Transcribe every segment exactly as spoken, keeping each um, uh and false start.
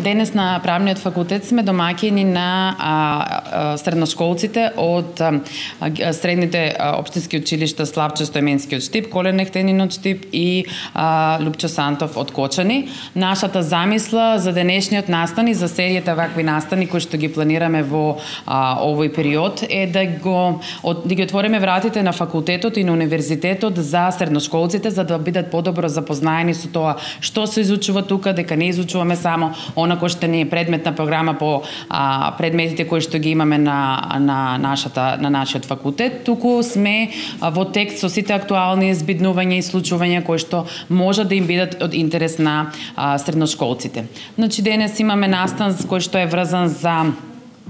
денес на правниот факултет сме домаќини на а, а, средношколците од а, средните а, општински училишта Славчо Стојменски од Штип, Колен Ехтенин од Штип и а, Лупчо Сантов од Кочани. Нашата замисла за денешниот настан и за серијата вакви настани кои што ги планираме во а, овој период е да го од, да ги отвориме вратите на факултетот и на универзитетот за средношколците, за да бидат подобро запознаени со тоа што се изучува тука, дека не изучуваме само она кој што ни е предмет на програма по а, предметите кои што ги имаме на на нашата на нашиот факултет, туку сме а, во текст со сите актуални збиднувања и случувања кои што може да им бидат од интерес на а, средношколците. Значи денес имаме настан кој што е врзан за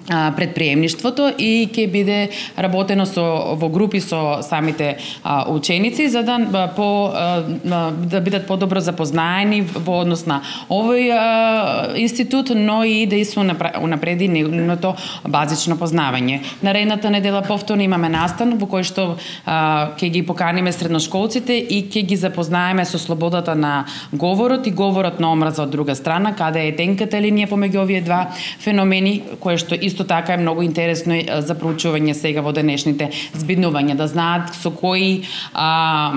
предприемништвото и ќе биде работено со во групи со самите а, ученици за да по а, да бидат подобро запознаени во однос на овој а, институт, но и да се унапреди нивното базично познавање. Наредната недела повторно имаме настан во кој што а, ќе ги поканиме средношколците и ќе ги запознаеме со слободата на говорот и говорот на омраза од друга страна, каде е тенката линија помеѓу овие два феномени, кое што исто така е многу интересно за проучување сега во денешните збиднувања, да знаат со кои а,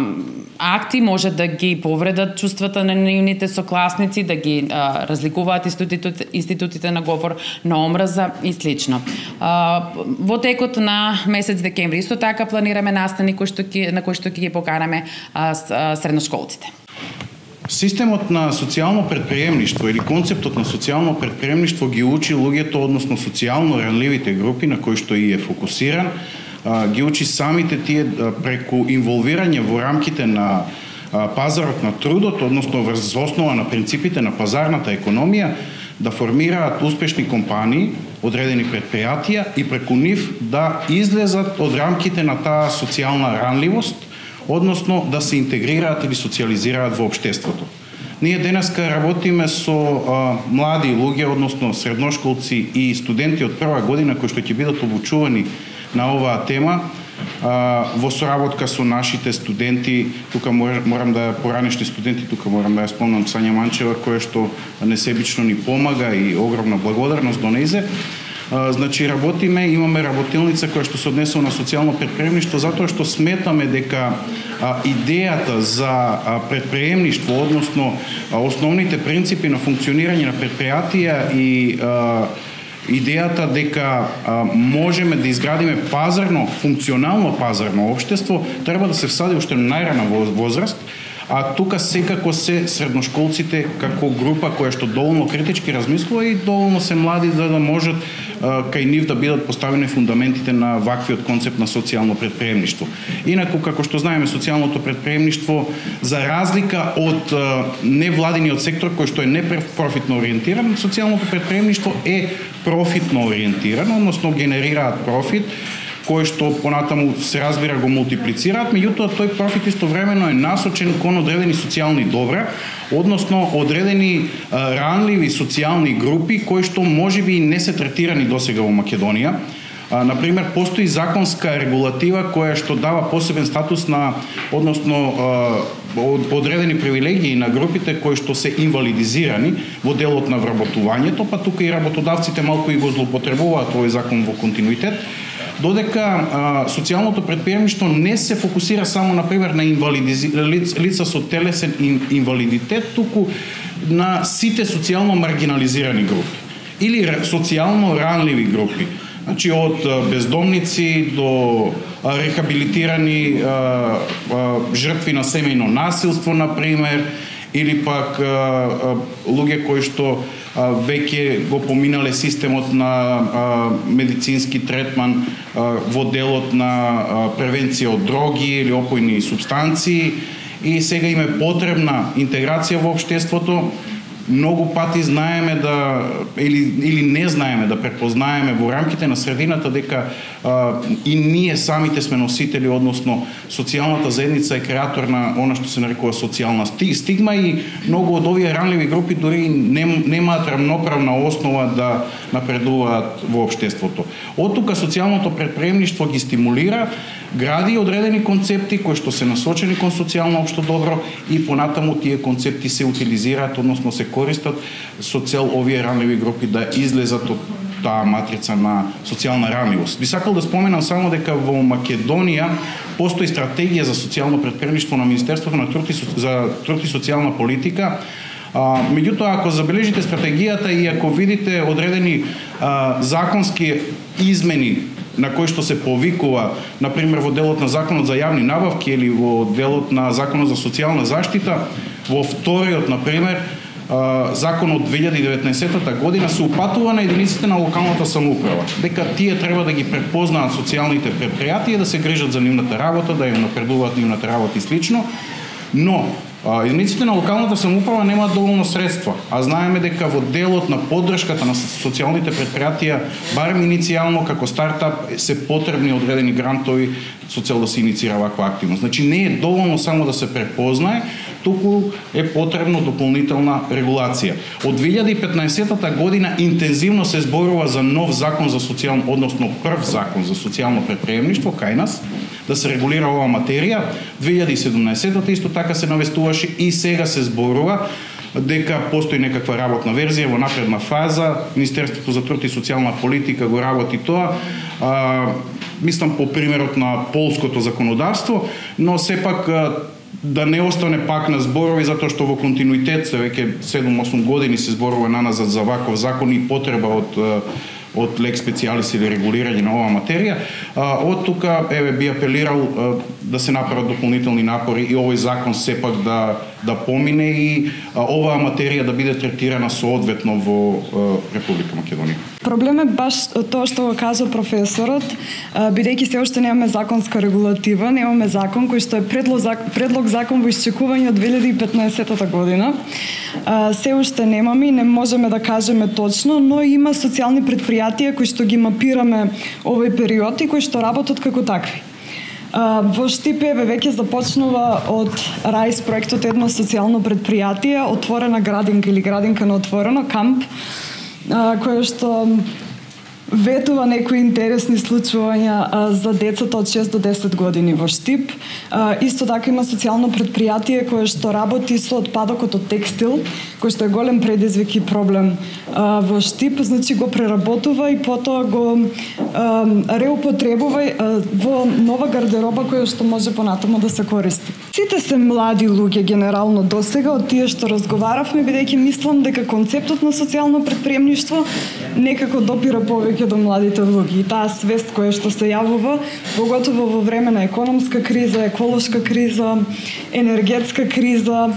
акти може да ги повредат чувствата на нивните сокласници, да ги а, разликуваат институтите, институтите на говор на омраза и слично. А, во текот на месец декември исто така планираме настани кои што ки, на кои што ќе ги поканаме а, а, средношколците. Системот на социјално предприемништво или концептот на социјално предприемништво ги учи луѓето, односно социјално ранливите групи на кои што и е фокусиран, ги учи самите тие преку инволвирање во рамките на пазарот на трудот, односно врз основа на принципите на пазарната економија, да формираат успешни компании, одредени предпријатија и преку нив да излезат од рамките на таа социјална ранливост, односно да се интегрираат или социализираат во општеството. Ние денеска работиме со а, млади луѓе, односно средношколци и студенти од прва година кои што ќе бидат обучувани на оваа тема, а, во соработка со нашите студенти, тука морам да поранешни студенти, тука морам да ја спомнам Сања Манчева, која што несебично ни помага и огромна благодарност до нејзе. Uh, значи работиме, имаме работилница која што се однесува на социјално предприемништво, затоа што сметаме дека а, идејата за а, предприемништво, односно а, основните принципи на функционирање на предпријатија и а, идејата дека а, можеме да изградиме пазарно, функционално пазарно општество, треба да се всади уште на најрана возраст. А тука секако се средношколците како група која што доволно критички размислува и доволно се млади за да можат а, кај нив да бидат поставени фундаментите на ваквиот концепт на социјално предприемништво. Инаку, како што знаеме, социјалното предприемништво, за разлика од а, невладиниот сектор кој што е непрофитно ориентиран, социјалното предприемништво е профитно ориентирано, односно генерираат профит, кој што понатаму се разбира го мултиплицираат, меѓутоа тој профит истовремено е насочен кон одредени социјални добра, односно одредени а, ранливи социјални групи кои што можеби и не се третирани досега во Македонија. А, например, постои законска регулатива која што дава посебен статус на, односно а, одредени привилегии на групите кои што се инвалидизирани во делот на вработувањето, па тука и работодавците малку и го злоупотребуваат овој закон во континуитет. Додека а, социјалното предприемништво не се фокусира само, например, на инвалиди... лица со телесен инвалидитет, туку на сите социјално маргинализирани групи или социјално ранливи групи. Значи, од бездомници до рехабилитирани а, а, жртви на семејно насилство, например, или пак а, а, луѓе кои што а, веќе го поминале системот на а, медицински третман а, во делот на а, превенција од дроги или опојни супстанции и сега им е потребна интеграција во општеството. Многу пати знаеме да или или не знаеме да препознаеме во рамките на средината дека а, и ние самите сме носители, односно социјалната заедница е креатор на она што се нарекува социјална стигма и многу од овие ранливи групи дури нем, немаат рамноправна основа да напредуваат во општеството. Од тука социјалното предприемништво ги стимулира гради одредени концепти кои што се насочени кон социјално општо добро и понатаму тие концепти се утилизираат, односно се користат со цел овие ранливи групи да излезат од таа матрица на социјална ранливост. Би сакал да споменам само дека во Македонија постои стратегија за социјално претпремништво на Министерството на труд и за труд и социјална политика. А, меѓутоа, ако забележите стратегијата и ако видите одредени а, законски измени на кои што се повикува, например во делот на Законот за јавни набавки или во делот на Законот за социјална заштита, во вториот, например, Закон од две илјади и деветнаесетта година се упатува на единиците на локалната самоуправа, дека тие треба да ги препознаат социјалните предпријатија, да се грижат за нивната работа, да ја напредуваат нивната работа и слично, но единиците на локалната самоуправа немаат доволно средства, а знаеме дека во делот на поддршката на социјалните предпријатија, барем иницијално како стартап, се потребни одредени грантови со цел да се инициира ваква активност. Значи не е доволно само да се препознае, туку е потребно дополнителна регулација. Од две илјади и петнаесетта година интензивно се зборува за нов закон за социјално, односно прв закон за социјално предприемништво кај нас, да се регулира оваа материја. две илјади и седумнаесетта исто така се навестуваше и сега се зборува дека постои некаква работна верзија во напредна фаза. Министерството за труд и социјална политика го работи тоа. А, мислам по примерот на полското законодавство, но сепак да не остане пак на зборови, затоа што во континуитет се веќе седум-осум години се зборува наназад за ваков закон и потреба од од лек специјалис или регулирање на оваа материја. Од тука еве би апелирал да се направат дополнителни напори и овој закон сепак да да помине и оваа материја да биде третирана соодветно во Република Македонија. Проблем е баш тоа што го кажа професорот, бидејќи се уште немаме законска регулатива, немаме закон кој што е предлог, предлог закон во исчекување од две илјади и петнаесетта година. Се уште немаме и не можеме да кажеме точно, но има социјални предпријатија кои што ги мапираме овој период и кои што работат како такви. Во Штипеве веќе започнува од РАИС проектот едно социјално предпријатие, отворена градинка или градинка на отворено, камп, кој што ветува некои интересни случувања за децата од шест до десет години во Штип. Исто така има социјално предпријатие кое што работи со отпадокот од текстил, кој што е голем предизвик и проблем во Штип, значи го преработува и потоа го реупотребува во нова гардероба која што може понатаму да се користи. Сите се млади луѓе генерално досега од тие што разговаравме, бидејќи мислам дека концептот на социјално претприемништво некако допира повеќе до младите луѓе. И таа свест која што се јавува, поготово во време на економска криза, еколошка криза, енергетска криза,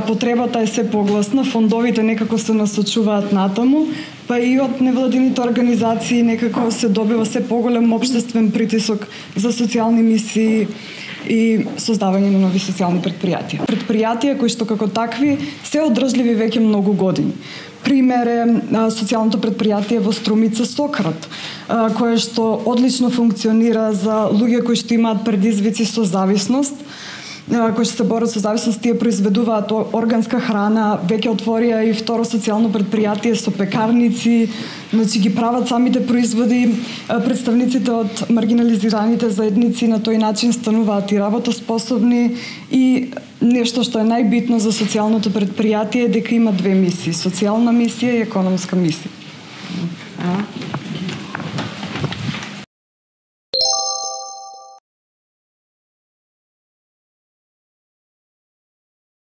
потребата е се погласна, фондовите некако се насочуваат натаму, па и од невладините организации некако се добива се поголем општествен притисок за социјални мисии и создавање на нови социјални предпријатија. Предпријатија кои што како такви се одржливи веќе многу години. Пример е социјалното предпријатие во Струмица Сократ, кое што одлично функционира за луѓе кои што имаат предизвици со зависност, кои што се борат со зависност, тие произведуваат органска храна, веќе отворија и второ социјално предпријатие со пекарници, значи ги прават самите производи, представниците од маргинализираните заедници на тој начин стануваат и работоспособни и нешто што е најбитно за социјалното предпријатие е дека има две мисии, социјална мисија и економска мисија.